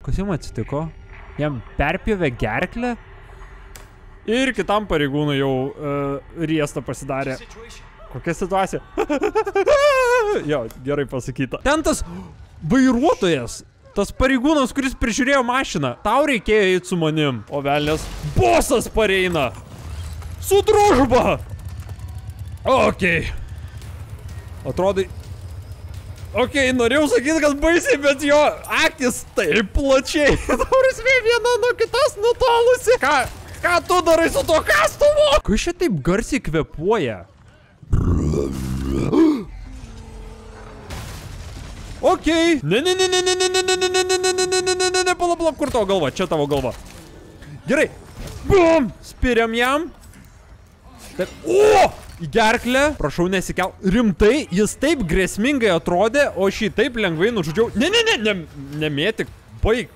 Kas jam atsitiko? Jam perpjovė gerklę? Ir kitam pareigūnui jau riesta pasidarė. Kokia situacija? Jo, gerai pasakyta. Ten tas vairuotojas, tas pareigūnas, kuris prižiūrėjo mašiną. Tau reikėjo eiti su manim. O velnės, bosas pareina. Su družba. Okei. Atrodai... Okei, norėjau sakyti, kad baisiai, bet jo akis taip plačiai. Tauris viena nuo kitos nutolusi. Ką tu darai su to kastuvu? Kai šia taip garsiai kvepuoja? Okei. Ne, palauk, kur tavo galva? Čia tavo galva. Gerai. Bum! Spiriam jam. Taip. O! Į gerklę. Prašau nesikel. Rimtai, jis taip grėsmingai atrodė, o šį taip lengvai nužudžiau. Ne, nemėtik. Baig.